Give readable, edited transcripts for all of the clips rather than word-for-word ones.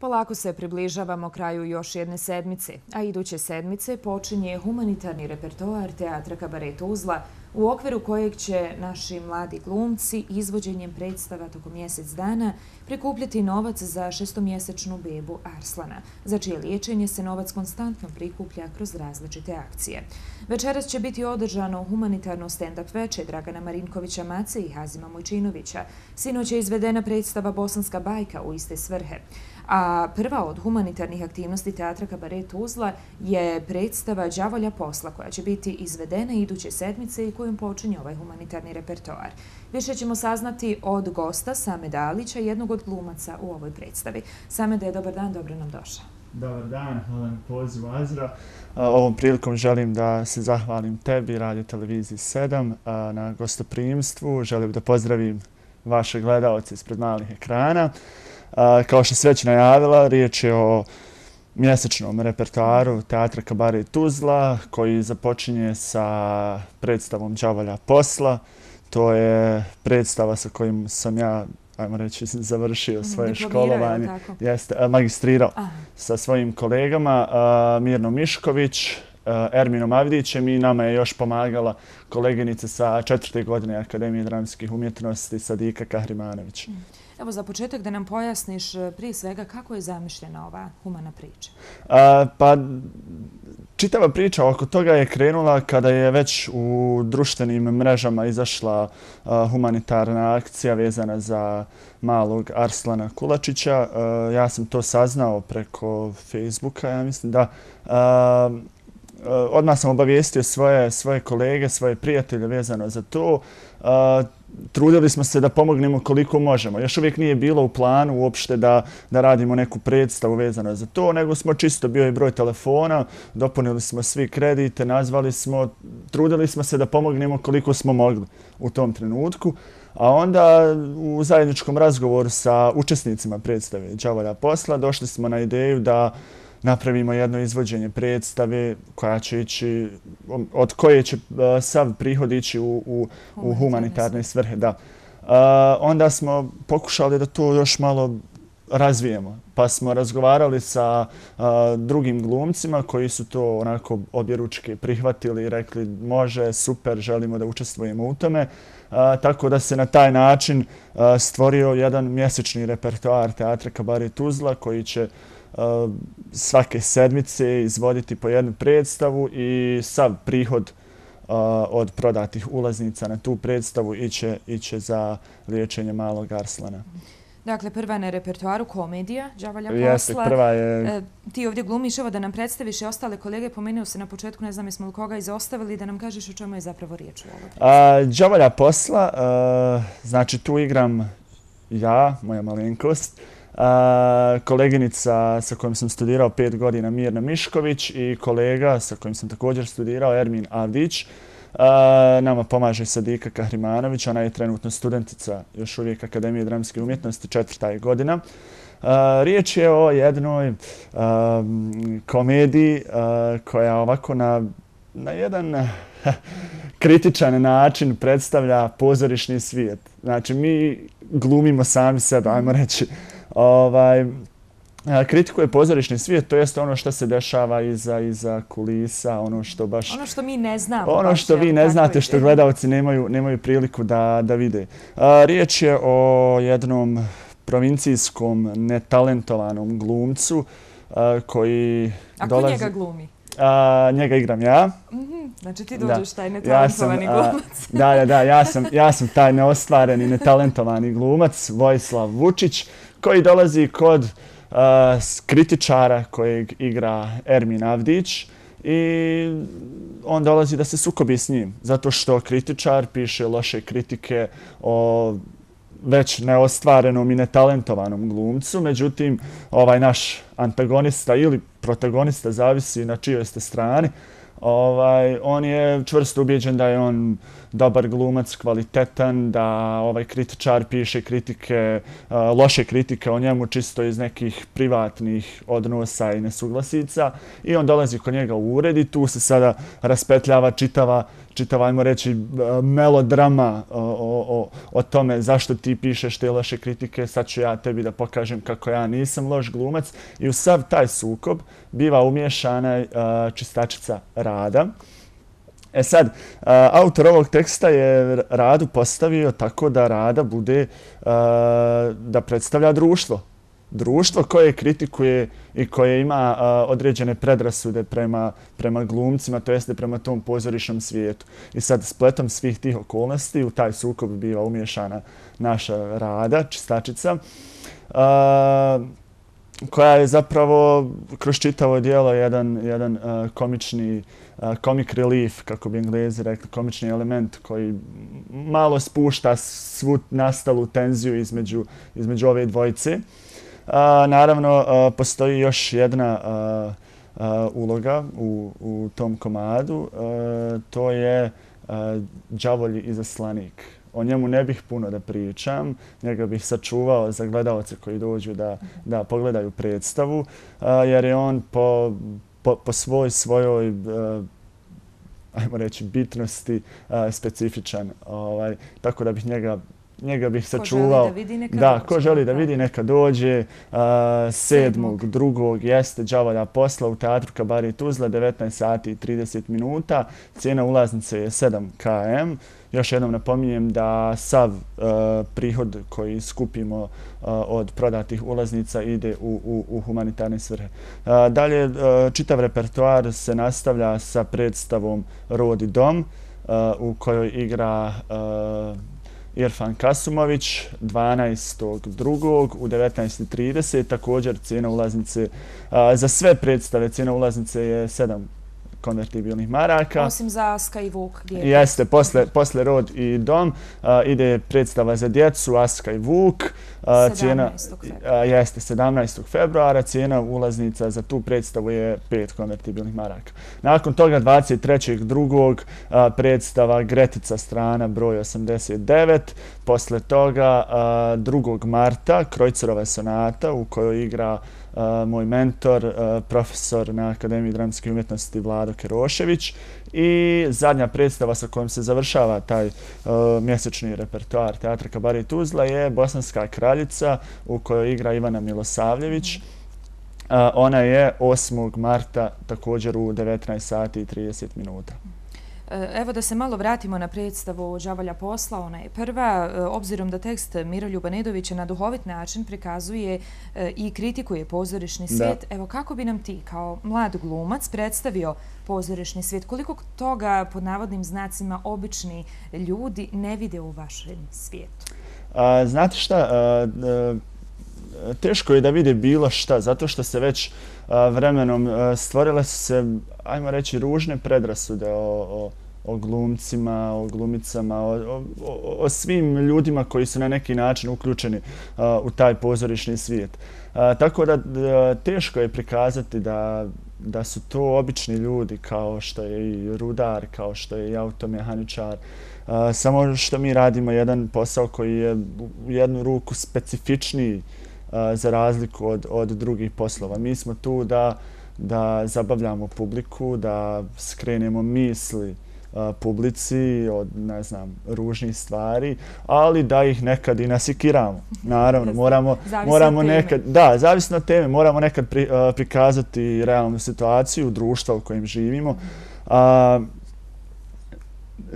Polako se približavamo kraju još jedne sedmice, a iduće sedmice počinje humanitarni repertoar Teatra Kabaret Tuzla, u okviru kojeg će naši mladi glumci izvođenjem predstava tokom mjesec dana prikupljati novac za šestomjesečnu bebu Arslana, za čije liječenje se novac konstantno prikuplja kroz različite akcije. Večeras će biti održano humanitarno stand-up veče Dragana Marinkovića Mace i Hazima Mojčinovića. Sinoć je izvedena predstava Bosanska bajka u iste svrhe. A prva od humanitarnih aktivnosti Teatra Kabaret Tuzla je predstava Đavolja posla, koja će biti izvedena iduće sedmice i kojom počinje ovaj humanitarni repertoar. Više ćemo saznati od gosta Sameda Alića, jednog od glumaca u ovoj predstavi. Samede, dobar dan, dobro nam došao. Dobar dan, hvala na pozivu, Azra. Ovom prilikom želim da se zahvalim tebi, Radio Televiziji 7, na gostoprimstvu. Želim da pozdravim vaše gledaoce ispred malih ekrana. Kao što se već najavila, riječ je o mjesečnom repertoaru Teatra Kabaret Tuzla koji započinje sa predstavom Đavolja posla. To je predstava sa kojim sam ja, ajmo reći, završio svoje školovanje. Magistrirao sa svojim kolegama Mirnom Mišković, Erminom Avdićem i nama je još pomagala koleginica sa 4. godine Akademije dramskih umjetnosti Sadika Kahrimanović. Evo, za početak da nam pojasniš prije svega kako je zamišljena ova humana priča. Pa, čitava priča oko toga je krenula kada je već u društvenim mrežama izašla humanitarna akcija vezana za malog Arslana Kulačića. Ja sam to saznao preko Facebooka, ja mislim da. Odmah sam obavijestio svoje kolege, svoje prijatelje vezano za to. Trudili smo se da pomognemo koliko možemo. Još uvijek nije bilo u planu uopšte da radimo neku predstavu vezano za to, nego smo čisto bio i broj telefona, dopunili smo svi kredite, nazvali smo, trudili smo se da pomognemo koliko smo mogli u tom trenutku. A onda u zajedničkom razgovoru sa učesnicima predstave Đavolja posla došli smo na ideju da napravimo jedno izvođenje predstave koja će ići, od koje će sav prihod ići u humanitarne svrhe. Da. Onda smo pokušali da to još malo razvijemo, pa smo razgovarali sa drugim glumcima koji su to onako objeručke prihvatili i rekli može, super, želimo da učestvujemo u tome. Tako da se na taj način stvorio jedan mjesečni repertoar Teatra Kabaret Tuzla koji će svake sedmice izvoditi po jednu predstavu i sav prihod od prodatih ulaznica na tu predstavu iće za liječenje malog Arslana. Dakle, prva na repertoaru komedija Đavolja posla. Jeste, prva je. Ti ovdje glumiš, evo da nam predstaviš i ostale kolege. Pomenuo se na početku, ne znam jesmo li koga izostavili, da nam kažeš o čemu je zapravo riječ u ovoj predstavi. Đavolja posla, znači tu igram ja, moja malenkost, koleginica sa kojom sam studirao 5 godina Mirna Mišković i kolega sa kojim sam također studirao Ermin Avdić. Nama pomaže Sadika Kahrimanović, ona je trenutno studentica još uvijek Akademije dramske umjetnosti, 4. godina. Riječ je o jednoj komediji koja ovako na jedan kritičan način predstavlja pozorišni svijet. Znači, mi glumimo sami sebe, ajmo reći. Kritikuje pozorišni svijet, to jest ono što se dešava iza kulisa, ono što baš... Ono što mi ne znamo. Ono što vi ne znate, što gledalci nemaju priliku da vide. Riječ je o jednom provincijskom netalentovanom glumcu koji dolazi... A ko njega glumi? Njega igram ja. Znači ti dođeš taj netalentovani glumac. Da, ja sam taj neostvareni, netalentovani glumac, Vojislav Vučić, koji dolazi kod kritičara kojeg igra Ermin Avdić i on dolazi da se sukobi s njim, zato što kritičar piše loše kritike o već neostvarenom i netalentovanom glumcu. Međutim, ovaj naš antagonista ili protagonista, zavisi na čijoj ste strani, on je čvrsto ubijeđen da je on dobar glumac, kvalitetan, da ovaj kritičar piše kritike, loše kritike o njemu čisto iz nekih privatnih odnosa i nesuglasica i on dolazi kod njega u ured i tu se sada raspetljava čitava, ajmo reći, melodrama o tome zašto ti pišeš te loše kritike, sad ću ja tebi da pokažem kako ja nisam loš glumac. I u sav taj sukob biva umiješana čistačica Rada. E sad, autor ovog teksta je Radu postavio tako da Rada bude, da predstavlja društvo. Društvo koje kritikuje i koje ima određene predrasude prema glumcima, to jeste prema tom pozorišnom svijetu. I sad spletom svih tih okolnosti u taj sukob biva umiješana naša Rada, čistačica, koja je zapravo kroz čitavo djelo jedan komični comic relief, kako bi Englezi rekli, komični element koji malo spušta svu nastalu tenziju između ove dvojice. Naravno, postoji još jedna uloga u tom komadu, to je đavolji izaslanik. O njemu ne bih puno da pričam, njega bih sačuvao za gledalce koji dođu da pogledaju predstavu, jer je on po svojoj ajmo reći, bitnosti specifičan. Tako da bih njega bih sačuvao. Ko želi da vidi neka dođe. 7.2. jeste đavolja posla u teatru Kabaret Tuzla, 19 sati i 30 minuta. Cijena ulaznice je 7 km. Još jednom napominjem da sav prihod koji skupimo od prodatih ulaznica ide u humanitarne svrhe. Dalje, čitav repertoar se nastavlja sa predstavom Rod i dom, u kojoj igra Irfan Kasumović 12.2. u 19.30. Također cijena ulaznice za sve predstave, cijena ulaznice je 7 konvertibilnih maraka. Osim za Aska i Vuk. Jeste, posle Rod i dom ide predstava za djecu Aska i Vuk. 17. februara. Cijena ulaznica za tu predstavu je 5 konvertibilnih maraka. Nakon toga 23.2. predstava Gretica strana broj 89. Posle toga 2. marta Krojcerova sonata u kojoj igra moj mentor, profesor na Akademiji dramskih umjetnosti Vlado Kerošević. I zadnja predstava sa kojom se završava taj mjesečni repertoar Teatra Kabaret Tuzla je Bosanska kraljica u kojoj igra Ivana Milosavljević. Ona je 8. marta također u 19 sati i 30 minuta. Evo da se malo vratimo na predstavu Đavolja posla, ona je prva, obzirom da tekst Miroljuba Nedovića na duhovit način prikazuje i kritikuje pozorišni svijet. Evo kako bi nam ti kao mlad glumac predstavio pozorišni svijet? Koliko toga pod navodnim znacima obični ljudi ne vide u vašem svijetu? Znate šta, teško je da vide bilo šta, zato što se već vremenom stvorile su se, ajmo reći, ružne predrasude o glumcima, o glumicama, o svim ljudima koji su na neki način uključeni u taj pozorišni svijet. Tako da teško je prikazati da su to obični ljudi kao što je i rudar, kao što je i automehaničar. Samo što mi radimo jedan posao koji je u jednu ruku specifičniji za razliku od drugih poslova. Mi smo tu da zabavljamo publiku, da skrenemo misli publici od, ne znam, ružnih stvari, ali da ih nekad i nasikiramo. Naravno, moramo nekad, da, zavisno od teme, moramo nekad prikazati realnu situaciju društva u kojem živimo.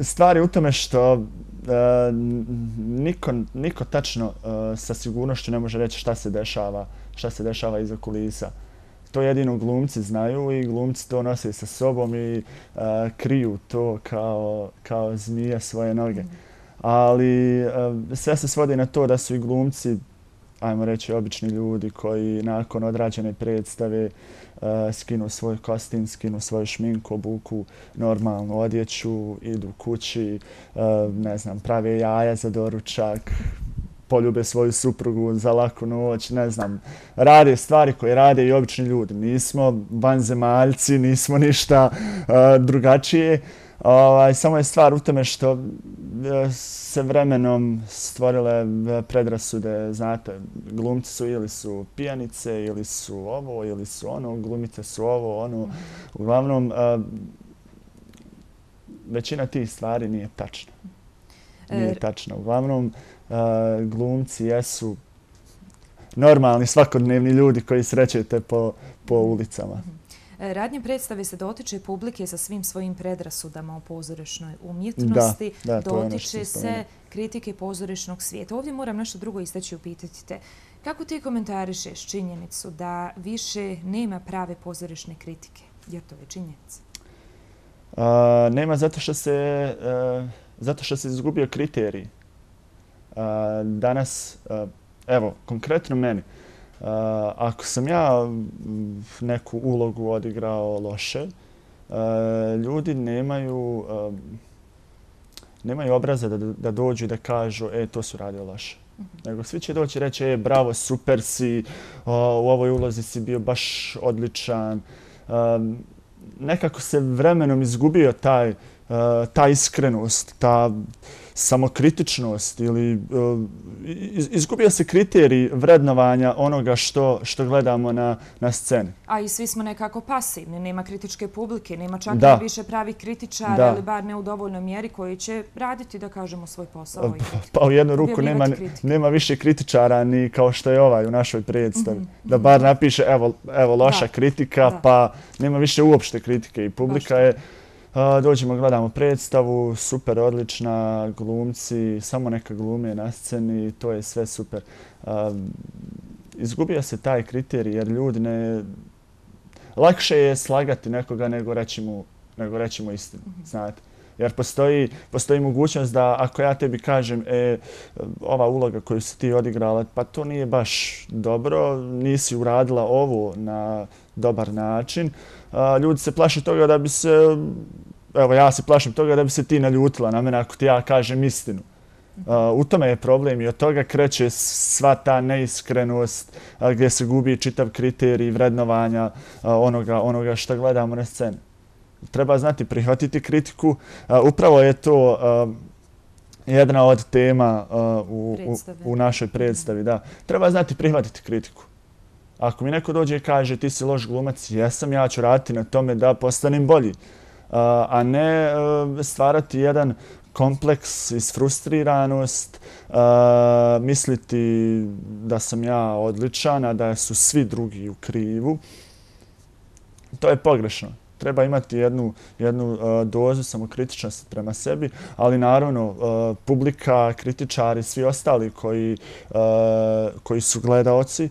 Stvar je u tome što niko tačno sa sigurnošću ne može reći šta se dešava iza kulisa. To jedino glumci znaju i glumci to nose sa sobom i kriju to kao zmija svoje noge. Ali sve se svodi na to da su i glumci, ajmo reći, obični ljudi koji nakon odrađene predstave skinu svoj kostim, skinu svoju šminku, obuku normalnu odjeću, idu kući, ne znam, prave jaja za doručak, poljube svoju suprugu za laku noć, ne znam, rade stvari koje rade i obični ljudi. Nismo vanzemaljci, nismo ništa drugačije. Samo je stvar u tome što se vremenom stvorile predrasude, znate, glumci su ili su pijanice, ili su ovo, ili su ono, glumice su ovo, ono. Uglavnom, većina tih stvari nije tačna. Nije tačna. Uglavnom, glumci jesu normalni, svakodnevni ljudi koji srećete po ulicama. Radnje predstave se dotiče publike sa svim svojim predrasudama o pozorišnoj umjetnosti, dotiče se kritike pozorišnog svijeta. Ovdje moram nešto drugo istaći i upitati te. Kako ti komentarišeš činjenicu da više nema prave pozorišne kritike? Jer to je činjenica. Nema zato što se izgubio kriterij. Danas, evo, konkretno meni, ako sam ja neku ulogu odigrao loše, ljudi nemaju obraza da dođu i da kažu to su radio loše. Nego svi će doći i reći bravo, super si, u ovoj ulozi si bio baš odličan. Nekako se vremenom izgubio ta iskrenost, ta samokritičnost ili izgubio se kriterij vrednovanja onoga što gledamo na sceni. A i svi smo nekako pasivni, nema kritičke publike, nema čak i više pravih kritičara, ali bar ne u dovoljnoj mjeri koji će raditi, da kažemo, svoj posao. Pa u jednu ruku nema više kritičara ni kao što je ovaj u našoj predstavi. Da bar napiše evo loša kritika, pa nema više uopšte kritike i publika je dođemo, gledamo predstavu, super, odlična, glumci, samo neka glume na sceni, to je sve super. Izgubio se taj kriterij jer ljudi ne... Lakše je slagati nekoga nego reći mu istinu, znate. Jer postoji mogućnost da ako ja tebi kažem ova uloga koju si ti odigrala, pa to nije baš dobro, nisi uradila ovo na dobar način. Ljudi se plaše toga da bi se, evo ja se plašim toga da bi se ti naljutila na mene ako ti ja kažem istinu. U tome je problem i od toga kreće sva ta neiskrenost gdje se gubi čitav kriterij vrednovanja onoga što gledamo na sceni. Treba znati prihvatiti kritiku. Upravo je to jedna od tema u našoj predstavi. Da. Treba znati prihvatiti kritiku. Ako mi neko dođe i kaže ti si loš glumac, jesam, ja ću raditi na tome da postanem bolji. A ne stvarati jedan kompleks, isfrustriranost, misliti da sam ja odličan, a da su svi drugi u krivu. To je pogrešno. Treba imati jednu dozu samokritičnosti prema sebi, ali naravno publika, kritičari, svi ostali koji su gledaoci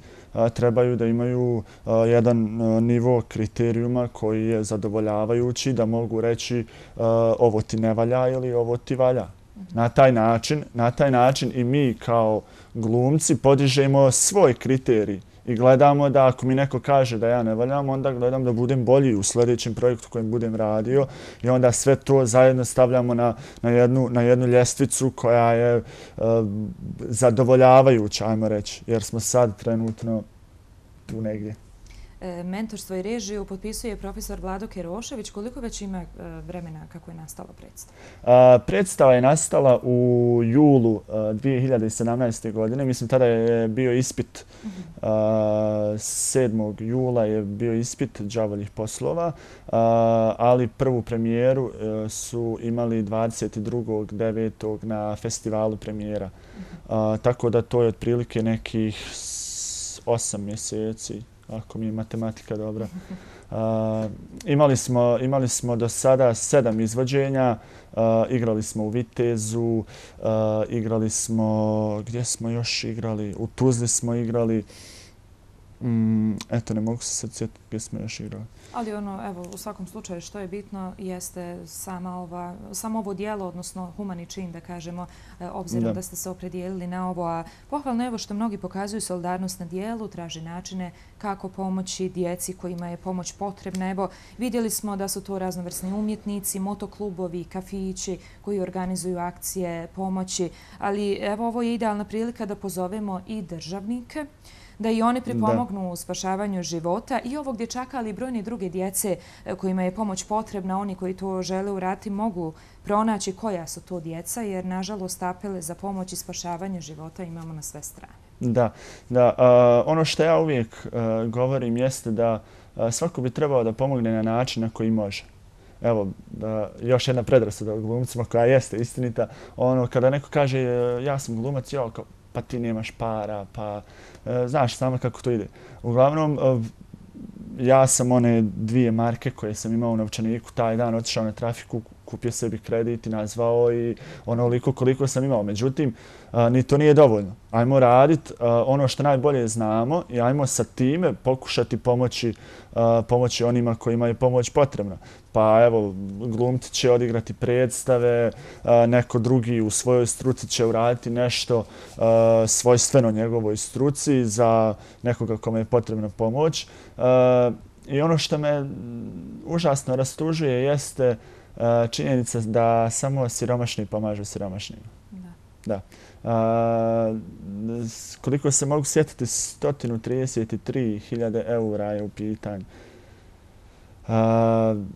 trebaju da imaju jedan nivo kriterijuma koji je zadovoljavajući da mogu reći ovo ti ne valja ili ovo ti valja. Na taj način i mi kao glumci podižemo svoj kriterij i gledamo da ako mi neko kaže da ja ne valjam, onda gledam da budem bolji u sljedećem projektu kojem budem radio i onda sve to zajedno stavljamo na jednu ljestvicu koja je zadovoljavajuća, ajmo reći, jer smo sad trenutno tu negdje. Mentorstvo i režiju potpisuje profesor Vlado Kerošević. Koliko već ima vremena kako je nastala predstava? Predstava je nastala u julu 2017. godine. Mislim, tada je bio ispit. 7. jula je bio ispit đavoljih poslova, ali prvu premijeru su imali 22.9. na festivalu premijera. Tako da to je otprilike nekih 8 mjeseci. Ako mi je matematika dobra. Imali smo do sada 7 izvođenja. Igrali smo u Vitezu, igrali smo, gdje smo još igrali? U Tuzli smo igrali. Eto, ne mogu se sad sjetiti gdje smo još igrali. Ali evo, u svakom slučaju što je bitno jeste samo ovo dijelo, odnosno humani čin, da kažemo, obzirom da ste se opredijelili na ovo. A pohvalno evo što mnogi pokazuju solidarnost na dijelu, traže načine kako pomoći djeci kojima je pomoć potrebna. Evo, vidjeli smo da su to raznovrsni umjetnici, motoklubovi, kafići koji organizuju akcije pomoći, ali evo ovo je idealna prilika da pozovemo i državnike, da i oni pripomognu u spašavanju života i ovog dječaka, ali i brojne druge djece kojima je pomoć potrebna. Oni koji to žele uraditi mogu pronaći koja su to djeca, jer nažalost apele za pomoć i spašavanje života imamo na sve strane. Da. Ono što ja uvijek govorim jeste da svako bi trebao da pomogne na način na koji može. evo, još jedna predrasuda o glumcima koja jeste istinita. Ono, kada neko kaže ja sam glumac, pa ti nemaš para, pa znaš samo kako to ide. Uglavnom, ja sam one 2 marke koje sam imao u novčaniku taj dan otišao na trafiku, kupio sebi kredit i nazvao i onoliko koliko sam imao. Međutim, ni to nije dovoljno. Ajmo raditi ono što najbolje znamo i ajmo sa time pokušati pomoći onima kojima je pomoć potrebna. Pa evo, glumci će odigrati predstave, neko drugi u svojoj struci će uraditi nešto svojstveno njegovoj struci za nekoga kome je potrebna pomoć. I ono što me užasno rastužuje jeste činjenica da samo siromašni pomažu siromašnima. Da. Koliko se mogu sjetiti, 133.000 eura je u pitanju.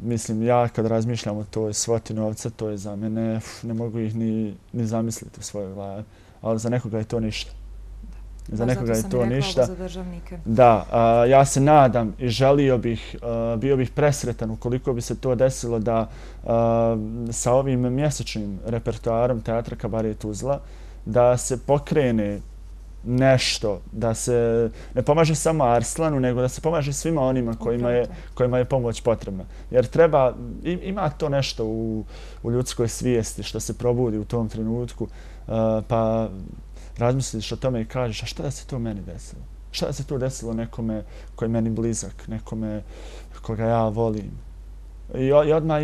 Mislim, ja kad razmišljam o toj svoti novca, to je za mene, ne mogu ih ni zamisliti u svojoj glavi. Ali za nekoga je to ništa. Za nekoga je to ništa. Za državnike. Da, ja se nadam i želio bih, bio bih presretan ukoliko bi se to desilo da sa ovim mjesečnim repertoarom Teatra Kabaret Tuzla da se pokrene nešto, da se ne pomaže samo Arslanu, nego da se pomaže svima onima kojima je pomoć potrebna. Jer treba, ima to nešto u ljudskoj svijesti što se probudi u tom trenutku, pa razmisliš o tome i kažeš, a šta da se to meni desilo? Šta da se to desilo nekome koji je meni blizak, nekome koga ja volim? I odmah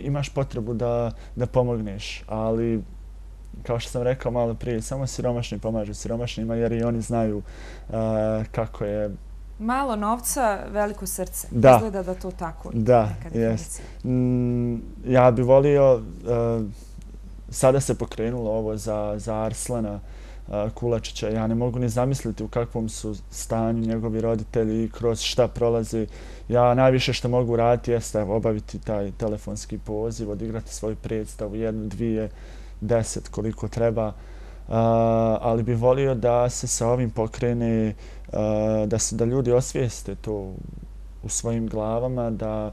imaš potrebu da pomogneš, ali kao što sam rekao malo prije, samo siromašni pomažu siromašnima jer i oni znaju kako je. Malo novca, veliko srce. Da. Izgleda da to tako. Da, jest. Ja bi volio, sada se pokrenulo ovo za Arslana Kulačića. Ja ne mogu ni zamisliti u kakvom su stanju njegovi roditelji i kroz šta prolazi. Ja najviše što mogu raditi jeste obaviti taj telefonski poziv, odigrati svoju predstavu, 1, 2, 10 koliko treba, ali bi volio da se sa ovim pokrene, da ljudi osvijeste to u svojim glavama, da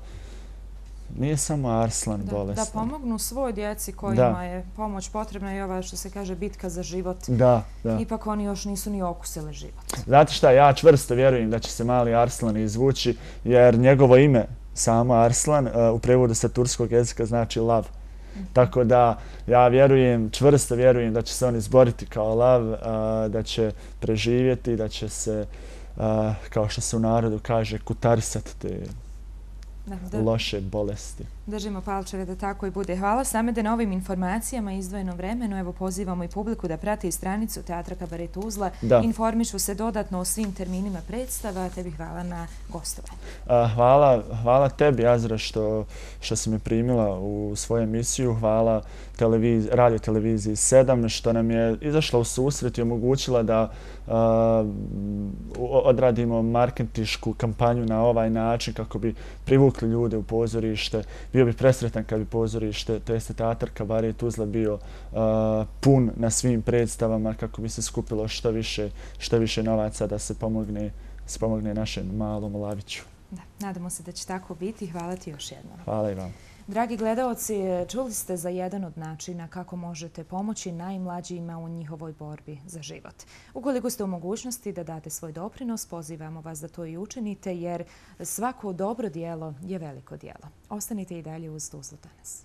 nije samo Arslan bolestan. Da pomognu svoj djeci kojima je pomoć potrebna i ova što se kaže bitka za život. Da. Ipak oni još nisu ni okusili život. Znate šta, ja čvrsto vjerujem da će se mali Arslan izvući jer njegovo ime, samo Arslan, u prevodu sa turskog jezika znači lav. Tako da ja čvrsto vjerujem da će se on izboriti kao lav, da će preživjeti, da će se, kao što se u narodu kaže, kutarisati te loše bolesti. Držimo palčeve da tako i bude. Hvala Samede na ovim informacijama i izdvojenom vremenu. Evo pozivamo i publiku da prati stranicu Teatra Kabaret Tuzla. Informišu se dodatno o svim terminima predstava. Tebi hvala na gostovanju. Hvala tebi, Azra, što si me primila u svoju emisiju. Hvala radio televiziji 7 što nam je izašla u susret i omogućila da odradimo marketinšku kampanju na ovaj način kako bi privukli ljude u pozorište. Bio bi presretan kad bi pozorište, to jeste Teatar Kabaret Tuzla bio pun na svim predstavama kako bi se skupilo što više novaca da se pomogne našem malom Laviću. Da, nadamo se da će tako biti. Hvala ti još jednom. Hvala i vam. Dragi gledaoci, čuli ste za jedan od načina kako možete pomoći najmlađima u njihovoj borbi za život. Ukoliko ste u mogućnosti da date svoj doprinos, pozivamo vas da to i učinite jer svako dobro djelo je veliko djelo. Ostanite i dalje uz Tuzlu danas.